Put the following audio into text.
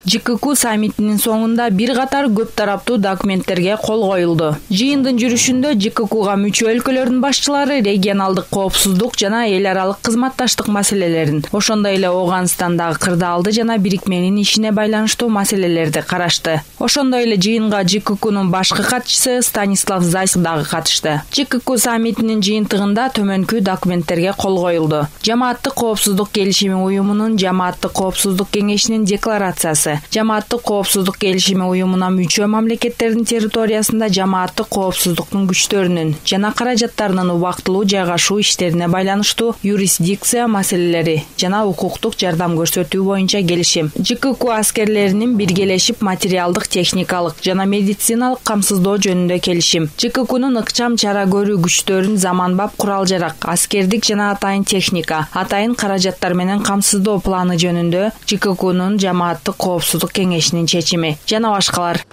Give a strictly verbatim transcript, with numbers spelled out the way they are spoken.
ЖКК саммитинин соңунда бир катар көп тараптуу документтерге кол коюлду. Жыйындын жүрүшүндө ЖККга мүчө өлкөлөрдүн башчылары регионалдык коопсуздук жана эл аралык кызматташтык маселелерин, ошондой эле Ооганстандагы кырдаалды жана бирикменин ишине байланыштуу маселелерди карашты. Ошондой эле жыйынга ЖККнын башкы катчысы Станислав Зайц дагы катышты. ЖКК саммитинин жыйынтыгында төмөнкү документтерге кол коюлду. Жамааттык коопсуздук келишими уюмунун Жамааттык коопсуздук кеңешинин декларациясы, Жамааттык коопсуздук келишими уюмуна мүчө мамлекеттердин территориясында жамааттык коопсуздуктун күчтөрүнүн жана каражаттарынын убактылуу жайгашуу иштерине байланыштуу юрисдикция маселелери жана укуктук жардам көрсөтүү боюнча келишим. ЖКК аскерлеринин биргелешип материалдык, техникалык жана медициналык камсыздоо жөнүндө келишим. ЖККнын ыкчам чара көрүү күчтөрүн заманбап курал-жарак, аскердик жана атайын техника, атайын каражаттар менен камсыздоо планы жөнүндө ЖККнын Жамааттык коопсуздук кеңешинин чечими жана башкалар.